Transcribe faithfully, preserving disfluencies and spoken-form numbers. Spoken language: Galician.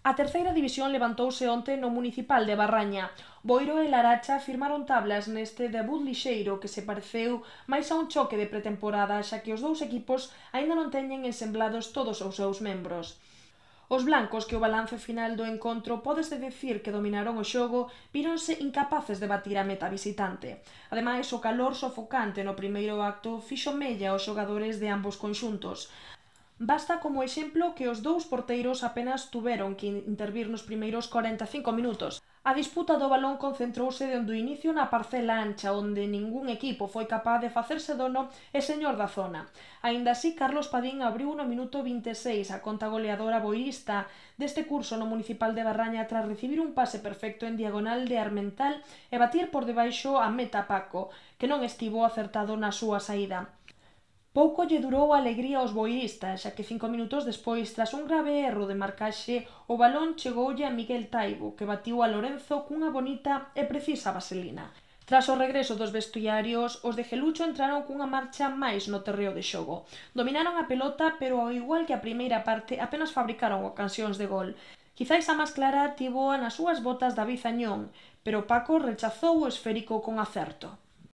A terceira división levantouse onte no Municipal de Barraña. Boiro e Laracha firmaron tablas neste debut lixeiro que se pareceu máis a un choque de pretemporada, xa que os dous equipos aínda non teñen ensemblados todos os seus membros. Os blancos, que o balance final do encontro pódese dicir que dominaron o xogo, víronse incapaces de batir a meta visitante. Ademais, o calor sofocante no primeiro acto fixo mella aos xogadores de ambos conxuntos. Basta como exemplo que os dous porteiros apenas tuveron que intervir nos primeiros corenta e cinco minutos. A disputa do balón concentrouse dende o inicio na parcela ancha, onde ningún equipo foi capaz de facerse dono e señor da zona. Aínda así, Carlos Padín abriu no minuto vinte e seis a conta goleadora boirista deste curso no Municipal de Barraña tras recibir un pase perfecto en diagonal de Armental e batir por debaixo a meta Paco, que non estivo acertado na súa saída. Pouco lle durou a alegría aos boiristas, xa que cinco minutos despois, tras un grave erro de marcaxe, o balón chegoulle a Miguel Taibo, que batiu a Lorenzo cunha bonita e precisa vaselina. Tras o regreso dos vestuarios, os de Gelucho entraron cunha marcha máis no terreo de xogo. Dominaron a pelota, pero ao igual que a primeira parte, apenas fabricaron ocasións de gol. Quizais a máis clara tivoa nas súas botas David Añón, pero Paco rechazou o esférico con acerto.